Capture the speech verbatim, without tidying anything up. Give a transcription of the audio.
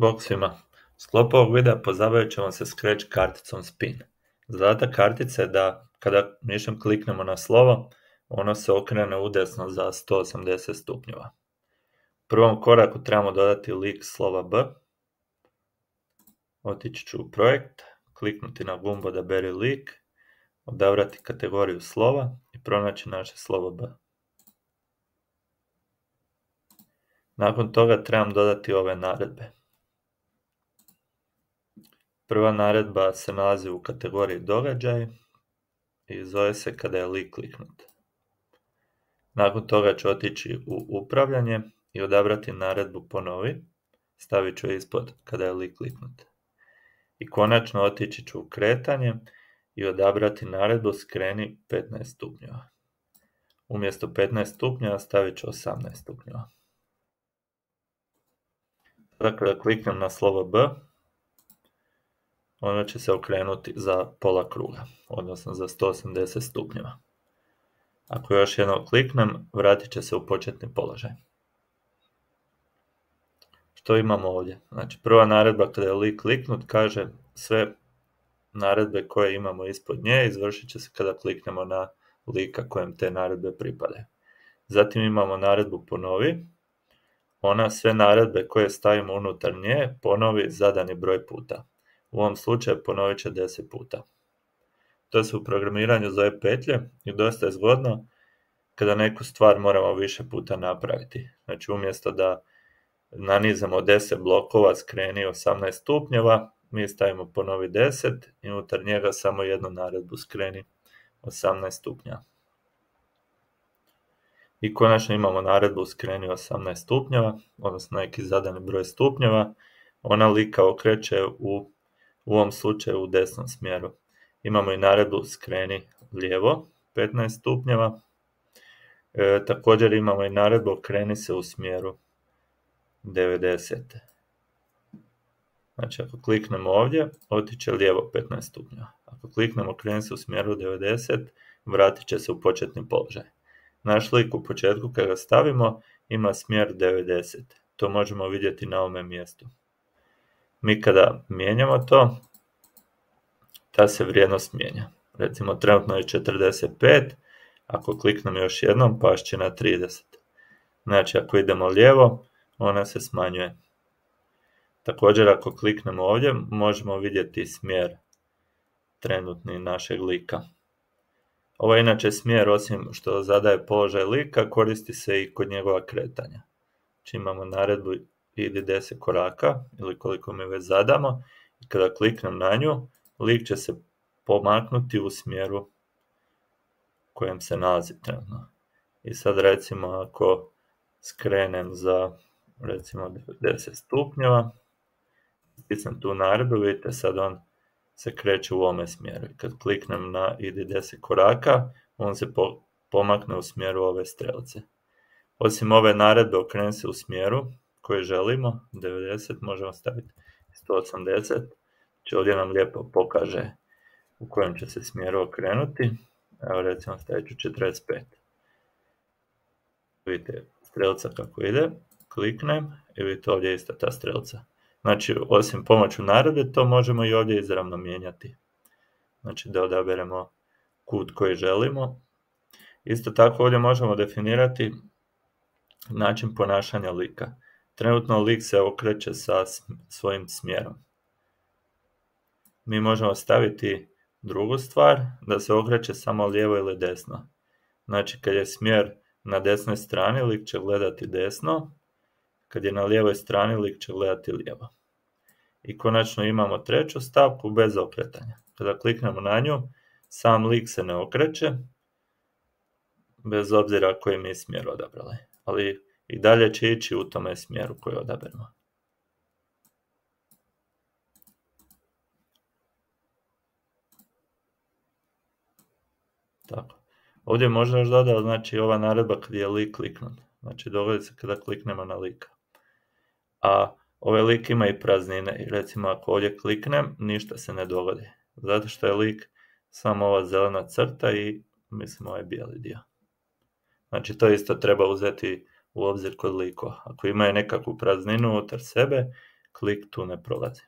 Bog svima. U sklopu ovog videa pozabavit ćemo se Scratch karticom Spin. Zadatak kartice je da kada mišem kliknemo na slovo, ono se okrene udesno za sto osamdeset stupnjeva. U prvom koraku trebamo dodati lik slova B. Otići ću u projekt, kliknuti na gumbu odaberi lik, odabrati kategoriju slova i pronaći naše slovo B. Nakon toga trebam dodati ove naredbe. Prva naredba se nalazi u kategoriji događaj i zove se kada je lik kliknut. Nakon toga ću otići u upravljanje i odabrati naredbu ponovi, stavit ću je ispod kada je lik kliknut. I konačno otići ću u kretanje i odabrati naredbu skreni petnaest stupnjeva. Umjesto petnaest stupnjeva stavit ću osamnaest stupnjeva. Sada kada kliknem na slovo B, ono će se okrenuti za pola kruga, odnosno za sto osamdeset stupnjeva. Ako još jednom kliknem, vratit će se u početni položaj. Što imamo ovdje? Znači, prva naredba kada je lik kliknut kaže sve naredbe koje imamo ispod nje izvršit će se kada kliknemo na lika kojem te naredbe pripadaju. Zatim imamo naredbu ponovi. Ona sve naredbe koje stavimo unutar nje ponovi zadani broj puta. U ovom slučaju ponovit će deset puta. To se u programiranju zove petlje i dosta je zgodno kada neku stvar moramo više puta napraviti. Znači umjesto da nanizamo deset blokova skreni osamnaest stupnjeva, mi stavimo ponovi deset i unutar njega samo jednu naredbu skreni osamnaest stupnjeva. I konačno imamo naredbu skreni osamnaest stupnjeva, odnosno neki zadani broj stupnjeva. Ona lika okreće u, u ovom slučaju u desnom smjeru. Imamo i naredbu skreni lijevo petnaest stupnjeva. E, također imamo i naredbu okreni se u smjeru devedeset. Znači ako kliknemo ovdje, otiće lijevo petnaest stupnjeva. Ako kliknemo okreni se u smjeru devedeset, vratit će se u početni položaj. Naš lik u početku kada ga stavimo ima smjer devedeset. To možemo vidjeti na ovome mjestu. Mi kada mijenjamo to, ta se vrijednost mijenja. Recimo trenutno je četrdeset pet, ako kliknem još jednom past će na trideset. Znači ako idemo lijevo, ona se smanjuje. Također ako kliknemo ovdje, možemo vidjeti smjer trenutni našeg lika. Ovo je inače smjer, osim što zadaje položaj lika, koristi se i kod njegova kretanja. Znači imamo naredbu idi deset koraka, ili koliko mi već zadamo, i kada kliknem na nju, lik će se pomaknuti u smjeru u kojem se nalazi trenutno. I sad recimo ako skrenem za recimo deset stupnjeva, stisnem tu naredbu, vidite sad on se kreće u ovome smjeru. I kad kliknem na idi deset koraka, on se po, pomakne u smjeru ove strelce. Osim ove naredbe okreni se u smjeru koji želimo, devedeset, možemo staviti sto osamdeset. Znači ovdje nam lijepo pokaže u kojem će se smjeru okrenuti. Evo recimo stavit ću četrdeset pet. Vidite strelca kako ide, kliknem i vidite ovdje je ista ta strelca. Znači, osim pomoću naredbe, to možemo i ovdje izravno mijenjati. Znači, da odaberemo kut koji želimo. Isto tako ovdje možemo definirati način ponašanja lika. Trenutno lik se okreće sa svojim smjerom. Mi možemo staviti drugu stvar, da se okreće samo lijevo ili desno. Znači, kad je smjer na desnoj strani, lik će gledati desno. Kad je na lijevoj strani, lik će gledati lijevo. I konačno imamo treću stavku bez okretanja. Kada kliknemo na nju, sam lik se ne okreće, bez obzira koji mi smjer odabrali. Ali i dalje će ići u tome smjeru koji odaberemo. Tako. Ovdje možda još dodati, znači ova naredba kad je lik kliknut. Znači dogodi se kada kliknemo na lika. A ovaj lik ima i praznine. I recimo ako ovdje kliknem, ništa se ne dogodi. Zato što je lik samo ova zelena crta i mislim ovaj bijeli dio. Znači to isto treba uzeti u obzir kod likova. Ako imaju nekakvu prazninu unutar sebe, klik tu ne prolazi.